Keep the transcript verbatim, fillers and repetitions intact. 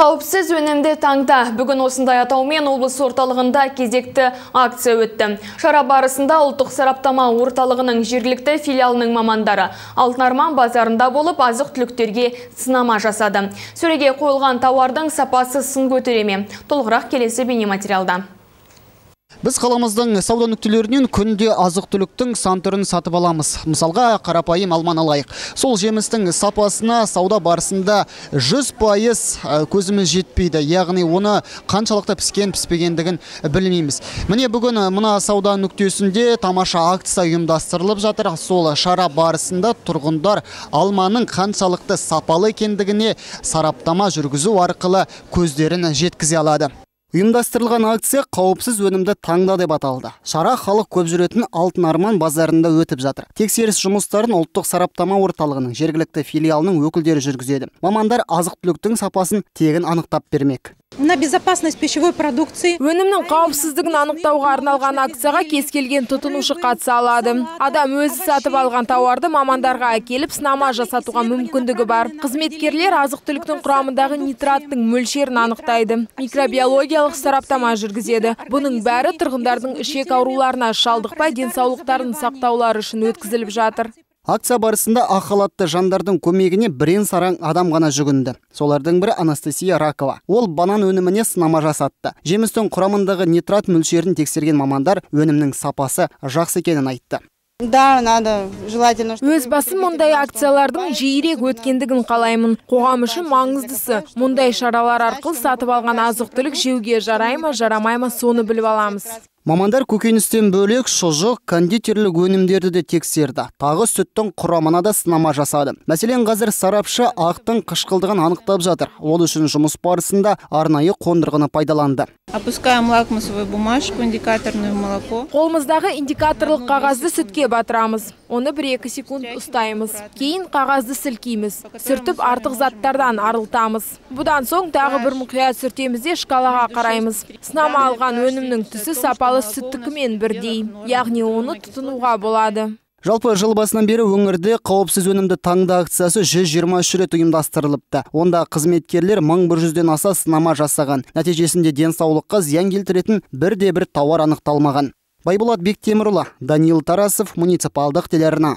Қауіпсіз өнімді таңда бүгін осындай атаумен облыс орталығында кезекті акция өтті. Шара барысында ұлттық сараптама орталығының жергілікті филиалының мамандары Алтын Арман базарында болып азық-түліктерге сынама жасады. Сөреге қойылған тауардың сапасы сын көтере ме? Толығырақ келесі бейнематериалда. Біз қаламыздың сауда нүктелерінен күнде азық-түліктің сан түрін сатып аламыз. Мысалға, қарапайым алманы алайық. Сол жемістің сапасына сауда барысында жүз пайыз көзіміз жетпейді. Яғни оны қаншалықты піскен піспегендігін білмейміз. Міне бүгін мына сауда нүктесінде тамаша акция ұйымдастырылып жатыр. Сол шара барысында тұрғындар алманың қаншалықты сапалы екендігіне сараптама жүргізу арқылы көздерін жеткізе алады. Ұйымдастырылған акция қауіпсіз өнімді таңда деп аталды. Шара халық көп жүретін Алтын Арман базарында өтіп жатыр. Тексеріс жұмыстарын ұлттық сараптама орталығының жергілікті филиалының өкілдері жүргізеді. Мамандар азық-түліктің сапасын тегін анықтап бермек. На безопасность пищевой продукции. Өнімнің қауіпсіздігін анықтауға арналған акцияға кез келген тұтынушы қатыса алады. Адам өзі сатып алған тауарды мамандарға әкеліп сынама жасатуға мүмкіндігі бар. Қызметкерлер азық-түліктің құрамындағы нитраттың мөлшерін анықтайды. Микробиологиялық сараптама жүргізеді. Бұның бәрі тұрғындардың ішек ауруларына шалдықпай денсаулықтарын сақтаулары үшін өткізіліп жатыр. Акция барысында ақ халатты жандардың көмегіне бірен саран адам ғана жүгінді. Солардың бірі Анастасия Ракова. Ол банан өніміне сынама жасатты. Жемістің құрамындағы нитрат мөлшерін тексерген мамандар өнімнің сапасы жақсы екенін айтты. Да, надо, желательно. Өз басым мұндай акциялардың жиірек өткендігін қалаймын. Қоғам үшін маңыздысы. Мұндай шаралар арқылы сатып алған азық-түлік жеуге жарай ма, жарамай ма, соны біліп аламыз. Мамандар көкөністен бөлек шұжық, кондитерлік өнімдерді де тексерді. Тағы сүттің құрамына да сынама жасады. Мәселен, қазір сарапшы ақтың қышқылдығын анықтап жатыр. Ол үшін жұмыс барысында арнайы қондырғыны пайдаланды. Опускаем лакмусовую бумажку, индикаторную молоко. Қолымыздағы индикаторлық қағазды сүтке батырамыз. Оны бір-екі секунд ұстаймыз. Кейін қағазды сілкейміз. Сүртіп артық заттардан арылтамыз. Бұдан соң тағы бір мұқият сүртемізде шкалаға қараймыз. Сынама алған өнімнің түсі сапалы сүттікімен бірдей. Яғни оны тұтынуға болады. Жалпы жыл басынан бері өңірде қауіпсіз өнімді таңда акциясы жүз жиырма үш рет ұйымдастырылыпты. Онда қызметкерлер мың бір жүзден аса сынама жасаған. Нәтижесінде денсаулыққа зиян келтіретін бірде бір тауар анықталмаған. Байболат Бектемірұлы, Даниил Тарасов, муниципалдық телеарна.